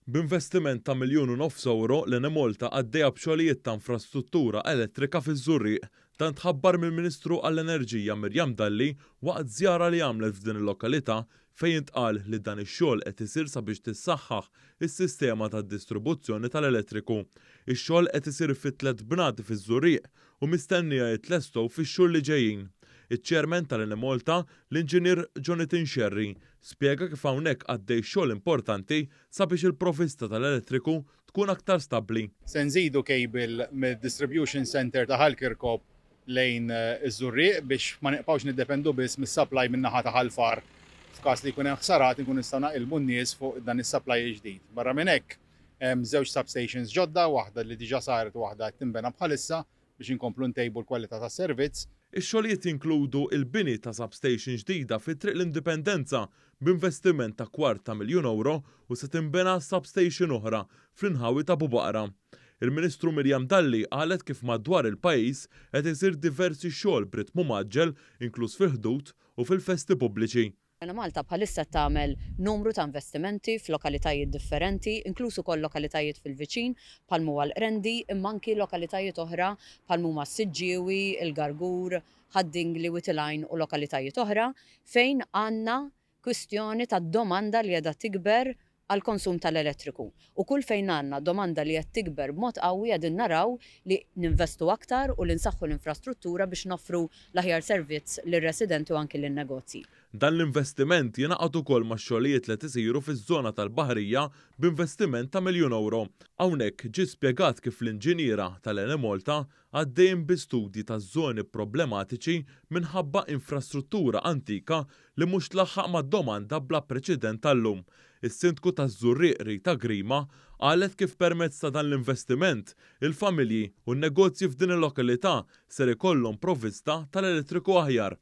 B'investiment ta' 1.5 miljun ewro, l-Enemalta għaddejja b'xogħlijiet ta' infrastruttura elettrika fiż-Żurrieq. Dan tħabbar mill-Ministru għall-Enerġija Miriam Dalli waqt żjara li għamlet f'din il-lokalità, fejn intqal li dan ix-xogħol qed isir sabiex tissaħħaħ is-sistema tad-distribuzzjoni tal-elettriku. Ix-xogħol qed isir fi tliet bnadi fiż-Żurrieq u mistennija jitlestew fix-xhur li ġejjin. Iċ-Chairman tal-Enemalta, l-Inġinier Jonathan Scerri, spjega kif hawnhekk għaddej xogħol importanti sabiex il-provista tal-elettriku tkun aktar stabbli. Se nżidu cable mid-distribution center ta' Ħal Kirkop lejn iż-Żurrieq biex ma nibqgħux niddependu biss mis-supply min-naħa ta' Ħal Far. F'każ li jkun hemm ħsarat, inkun nistgħu naqilbu n-nies fuq dan is-supply ġdid. Barra minn hekk, hemm żewġ substations ġodda, waħda li diġà saret u waħda qed tinbena bħalissa biex inkomplu ntejbu l-kwalità tas-servizz. Ix-xogħlijiet jinkludu il-bini ta' substation ġdida fi Triq l-Indipendenza b'investiment ta' 250,000 ewro u se tinbena substation oħra fl-inħawi ta' Bubaqra. Il-Ministru Miriam Dalli qalet kif madwar il-pajjiż qed isir diversi xogħol b'ritmu mgħaġġel, inkluż fil-Ħdud u fil-festi pubbliċi. Malta bħalissa tagħmel numru ta' investimenti f'lokalitajiet differenti, inkluż ukoll lokalitajiet fil-viċin bħal huwa l-Qrendi, imma anki lokalitajiet oħra bħal huma s-Siġġiewi, il-Gargur, Ħad-Dingli, Wied il-Għajn u lokalitajiet oħra fejn għandna kwistjoni ta' domanda li qiegħda tikber għal konsum tal-elettriku. U kull fejn għandna domanda li qed tikber b'mod qawwi, qegħdin naraw li ninvestu aktar u li nsaħħu l-infrastruttura biex noffru l-aħjar servizz lir-residenti u anki lin-negozji. Dan l-investiment jingħaqad ukoll ma' xogħlijiet li isiru fiż-żona tal-Baħrija b'investiment ta' 1 miljun ewro. Hawnhekk ġie spjegat kif l-inġiniera tal-Enemalta għaddejjin bi studji ta' żoni problematiċi minħabba infrastruttura antika li mhux tlaħħaq mad-domanda bla preċedent tal-lum. Is-Sindku taż-Żurrieq Rita Grima qalet kif permezz ta' dan l-investiment il-familji u n-negozji f'din il-lokalità ser ikollhom provvista tal-elettriku aħjar.